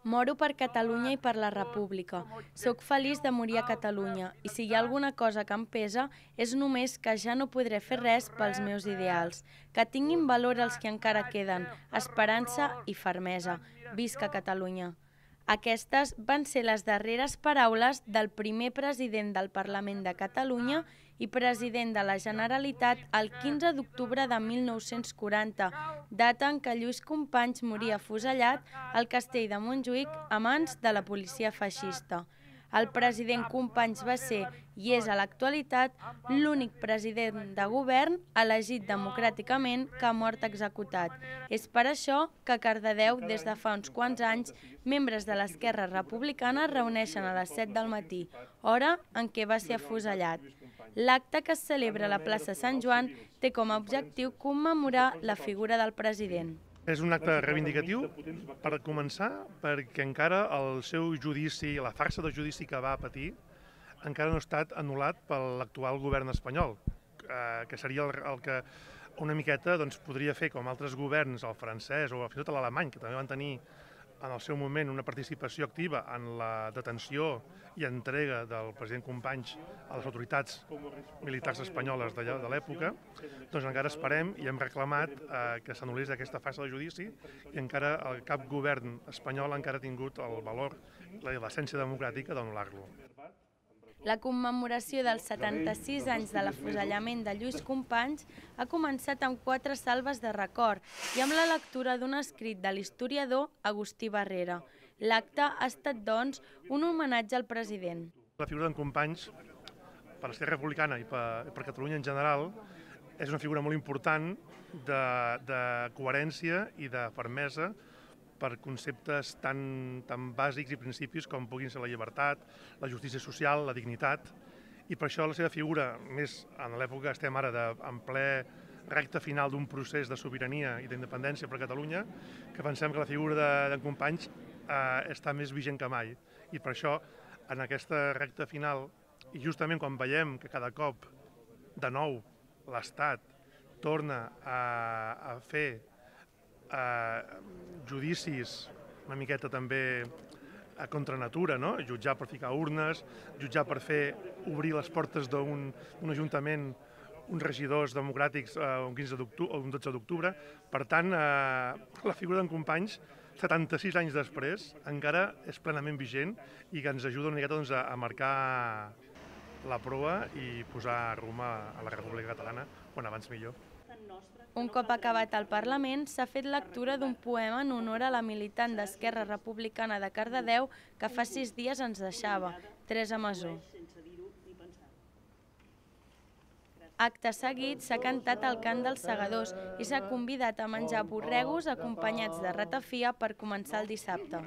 Moro per Catalunya i per la República. Soc feliç de morir a Catalunya i si hi ha alguna cosa que em pesa és només que ja no podré fer res pels meus ideals. Que tinguin valor els que encara queden, esperança i fermesa. Visca Catalunya! Aquestes van ser les darreres paraules del primer president del Parlament de Catalunya i president de la Generalitat el 15 d'octubre de 1940, data en què Lluís Companys moria afusellat al castell de Montjuïc a mans de la policia feixista. El president Companys va ser, i és a l'actualitat, l'únic president de govern elegit democràticament que ha mort executat. És per això que a Cardedeu, des de fa uns quants anys, membres de l'Esquerra Republicana es reuneixen a les 7 del matí, hora en què va ser afusellat. L'acte que es celebra a la plaça Sant Joan té com a objectiu commemorar la figura del president. És un acte reivindicatiu, per començar, perquè encara el seu judici, la farsa de judici que va patir, encara no ha estat anul·lat per l'actual govern espanyol, que seria el que una miqueta podria fer com altres governs, el francès o fins i tot l'alemany, que també van tenir en el seu moment una participació activa en la detenció i entrega del president Companys a les autoritats militars espanyoles de l'època, doncs encara esperem i hem reclamat que s'anul·lés aquesta fase de judici i encara cap govern espanyol encara ha tingut el valor i l'essència democràtica d'anul·lar-lo. La commemoració dels 76 anys de l'afusellament de Lluís Companys ha començat amb 4 salves de record i amb la lectura d'un escrit de l'historiador Agustí Barrera. L'acte ha estat, doncs, un homenatge al president. La figura d'en Companys, per l'Esquerra Republicana i per Catalunya en general, és una figura molt important de coherència i de fermesa per conceptes tan bàsics i principis com puguin ser la llibertat, la justícia social, la dignitat, i per això la seva figura, més en l'època que estem ara en ple recte final d'un procés de sobirania i d'independència per a Catalunya, que pensem que la figura d'en Companys està més vigent que mai. I per això, en aquesta recta final, i justament quan veiem que cada cop, de nou, l'Estat torna a fer judicis una miqueta també contra natura, jutjar per ficar urnes, jutjar per obrir les portes d'un ajuntament, uns regidors democràtics un 15 d'octubre o un 12 d'octubre. Per tant, la figura d'en Companys, 76 anys després, encara és plenament vigent i que ens ajuda una miqueta a marcar la proa i posar rumb a la República Catalana, quan abans millor. Un cop acabat el Parlament, s'ha fet lectura d'un poema en honor a la militant d'Esquerra Republicana de Cardedeu que fa 6 dies ens deixava, Teresa Masó. Acte seguit s'ha cantat el cant dels segadors i s'ha convidat a menjar borregos acompanyats de ratafia per començar el dissabte.